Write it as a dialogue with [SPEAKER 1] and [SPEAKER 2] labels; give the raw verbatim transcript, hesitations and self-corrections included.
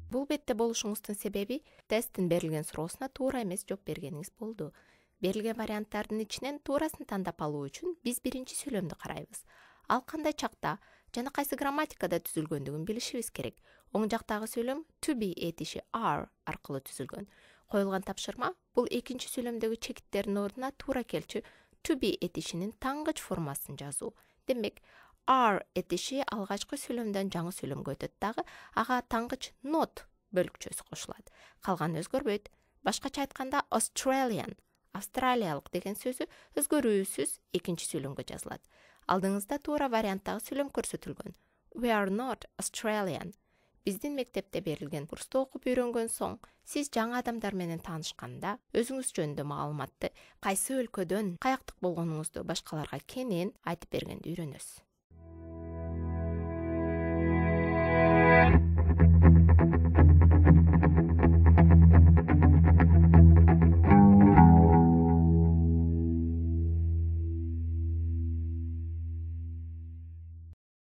[SPEAKER 1] Бул бетте болушуңуздун себеби тесттин берилген суроосуна туура эмес жооп бергениңиз болду. Берилген варианттардын ичинен туурасын тандап алуу үчүн биз биринчи сүйлөмдү карайбыз. Ал кандай чакта жана кайсы грамматикада түзүлгөндүгүн билишибиз керек. Оң жактагы сүйлөм to be этиши are аркылуу түзүлгөн. Коюлган тапшырма бул экинчи сүйлөмдөгү чекиттердин ордуна туура келчү to be этишинин тангыч формасын жазуу. Демек, are этиши алгачкы сүйлөмдөн жаңы сүйлөмгө өтөт дагы, ага тангыч not бөлүкчөсү кошулат. Калганы өзгөрбөйт. Башкача айтканда Australian, австралиялык деген сөзү өзгөрүүсүз экинчи сүйлөмгө жазылат. Алдыңызда туура варианттагы сүйлөм көрсөтүлгөн. We are not Australian. Биздин мектепте берилген курсту окуп үйрөнгөн соң, сиз жаңы адамдар менен таанышканда өзүңүз жөнүндө маалыматты, кайсы өлкөдөн, каяктык болгонуңузду башкаларга кенен айтып бергенди үйрөнөсүз.